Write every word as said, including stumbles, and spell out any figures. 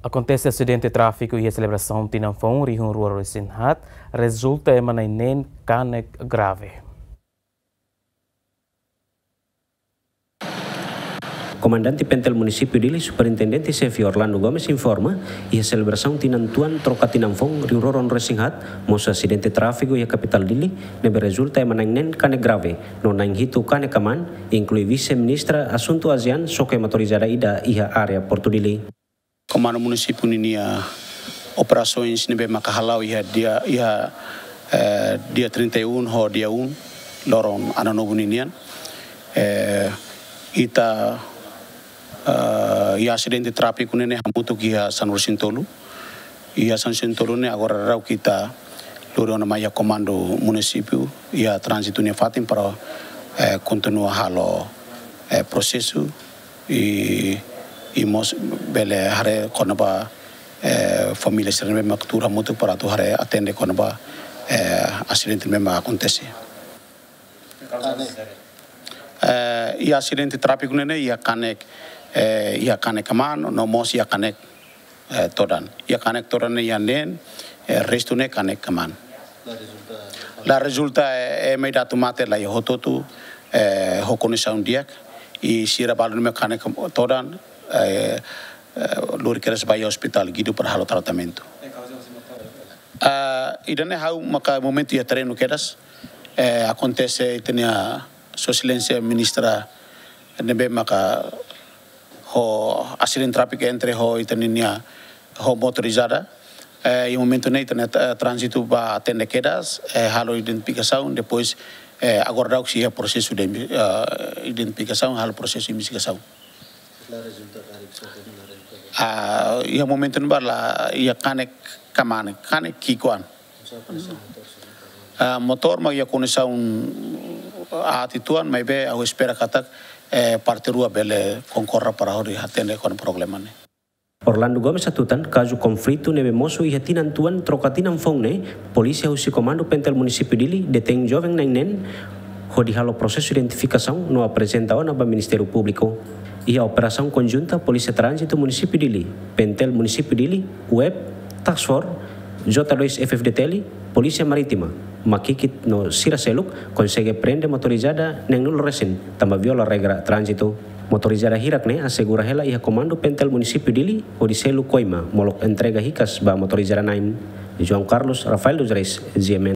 Akontese asidente tráfiku iha selebrasaun tinan foun rihun rua ruanulu-resin-haat, rezulta ema na'in neen kanek grave. Komandante Pentel Munisípiu Dili, Superintendente Xefe Orlando Gomes informa, iha selebrasaun tinan tuan troka tinan foun rihun rua ruanulu-resin-haat, mosu asidente tráfiku iha kapitál Dili, ne'ebé rezulta ema na'in neen kanek grave, no na'in hitu kanek aman, inklui Vise-Ministra Asuntu ASEAN, xoke motorizada ida iha área Portu Dili. Komandu Munisípiu ninia operasoens ne'ebé maka hala'o iha dia, iha, eh, dia trinta e um ho dia um, loron Ano Novo ninian. Eh, ita, eh, iha asidente tráfiku ne'e hamutuk iha sanulu-resin-tolu. Iha sanulu-resin-tolu ne'e agora daudaun ita lori ona mai iha komandu munisípiu, iha tránzitu nia fatin para, eh, kontinua halo, eh, prosesu i, i mós bele haree kona-ba, eh, família sira ne'ebé mak tuur hamutuk para atu haree atende kona-ba, eh, asidente ne'ebé mak akontese. Eh, iha asidente tráfiku ne'e, iha kanek, eh, iha kanek aman, no mós iha kanek, eh, todan. Iha kanek todan ne'e iha neen, eh, restu ne'e kanek aman. La rezulta, eh, ema ida atu mate la iha hotu-hotu, eh, ho kondisaun di'ak, i sira balu ne'ebé kanek todan, eh, eh, lori kedas ba iha ospitál Guido para halo tratamentu. Ah, ida-ne'e ha'u maka momentu iha terrenu kedas, eh, akontese ita-nia Sua Exelénsia Ministra ne'ebé maka ho asidente tráfiku entre ho ita ninia ho motorizada. Eh, iha momentu ne'e ita-nia, eh, tránzitu bá atende kedas, eh, halo identifikasaun, depois, eh, agora daudaun sei iha prosesu de, eh, identifikasaun, halo prosesu investigasaun. Ah, iha momentu ne'ebá la iha kanek kmaan, kanek ki'ikoan. Ah, motór mak iha kondisaun aat uitoan, maibé ha'u espera katak, eh, parte rua bele konkorda para hodi atende kona-ba problema ne'e. Orlando Gomes hatutan, kazu konflitu ne'ebé mosu iha tinan tuan troka tinan foun ne'e, polísia husi Komandu Pentel Munisípiu Dili detein joven na'in neen, hodi halo prosesu identifikasaun no aprezenta ona ba Ministériu Públiku. Iha operasaun konjunta Polísia Tránzitu Munisípiu Dili, Pentel Munisípiu Dili, web, Task Force, J dois F-FDTL, Polísia Marítima, Makikit no sira seluk konsege prende motorizada na'in-nulu resin tanba viola regra tránzitu. Motorizada hirak ne'e asegura hela iha Komandu Pentel Munisípiu Dili hodi selu koima molok entrega hikas ba motorizada na'in. João Carlos, Rafael dos Reis, G M N.